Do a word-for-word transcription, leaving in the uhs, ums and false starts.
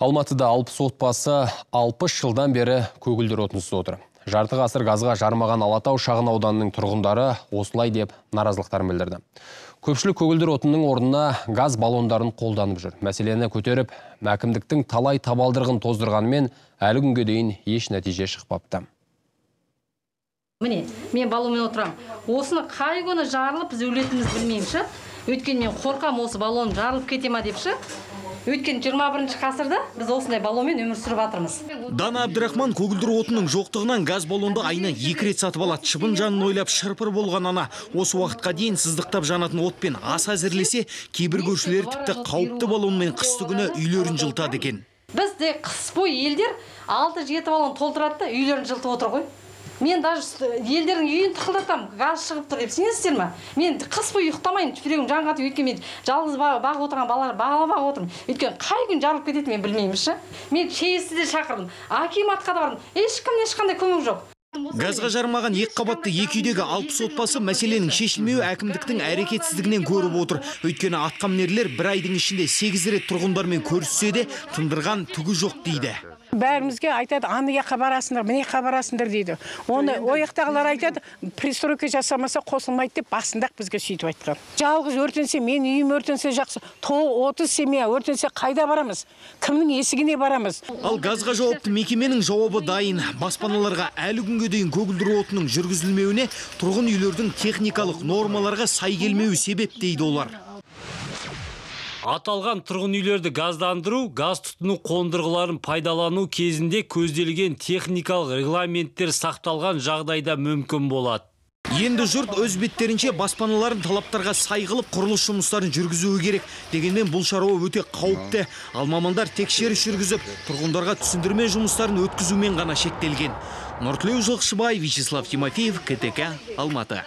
Алматыда алпыс отбасы алпыс жылдан бері көгілдір отынсыз отыр. Жарты ғасыр газға жармаған Алатау шағын ауданының тұрғындары осылай деп наразылықтарын білдірді. Көпшілік көгілдір отынның орнына газ баллондарын қолданып жүр. Мәселені көтеріп, әкімдіктің талай табалдырғын тоздырғанымен әлі күнге дейін еш нәтиже шықпапты. Міне, мен баллонмен отырам. Осыны қай күні жарылып біз өлетініміз білмеймші. Өйткені мен қорқам, осы баллон жарылып кете ма депші. Өйткені жиырма бірінші ғасырда біз осындай баллонмен өмір сүріп жатырмыз. Дана Абдрахман көгілдір отынның жоқтығынан газ баллонды айына екі рет сатып алады. Шыбын жанын ойлап шырпыр болған ана осы уақытқа дейін сыздықтап жанатын отпен ас әзірлесе, кейбір көршілер тіпті қауіпті баллонмен қысты күні үйлерін жылтады екен. Бізде қыс бойы елдер алты жеті баллон толтырады да үйлерін жылтып отыр ғой. Мен даже елдердің үйін тықылдатам, газ шығып тұр деп сенесіздер ме? Мен қыс бойы ұйықтамайын, жүрегім жан қатып, өйткені мен жалғыз бағып отырған балалар бала бағып отырмын. Өйткені қай күн жарылып кетеді мен білмеймінші. Мен шейісті де шақырдым, акиматқа да бардым, ешкімнен ешқандай көмек жоқ. Газға жармаған екі қабатты екі үйдегі алпыс отбасы мәселенің шешілмеуі әкімдіктің әрекетсіздігінен көріп отыр. Өйткені атқамінерлер бір айдың ішінде сегіз рет тұрғындармен көріссе де тындырған түгі жоқ дейді. Бәрімізге айтады, аны яққа барасыңдар, міне яққа барасыңдар дейді. Оны ояқтағылар айтады, пристройка жасамаса қосылмайды деп басындақ бізге сөйтіп айтқан. Жалғыз өртенсе, мен үйім өртенсе жақсы, отыз семья өртенсе қайда барамыз? Кімнің есігіне барамыз? Ал газға жауапты мекеменің жауабы дайын. Баспаналарға әлі күнге дейін көгілдір отынның жүргізілмеуіне тұрғын үйлердің техникалық нормаларға сай келмеуі себеп дейді олар. Аталған тұрғын үйлерді газдандыру, газ тұтыну қондырғыларын пайдалану кезінде көзделген техникалық регламенттер сақталған жағдайда мүмкін болады. Енді жұрт өз беттерінше баспаналарын талаптарға сай қылып құрылыс жұмыстарын жүргізуі керек. Дегенмен бұл шаруа өте қауіпті. Ал мамандар тексеріс жүргізіп, тұрғындарға түсіндірме жұмыстарын өткізумен ғана шектелген. Нұртілеу Жылқышыбай, Вячеслав Тимофеев, КТК, Алматы.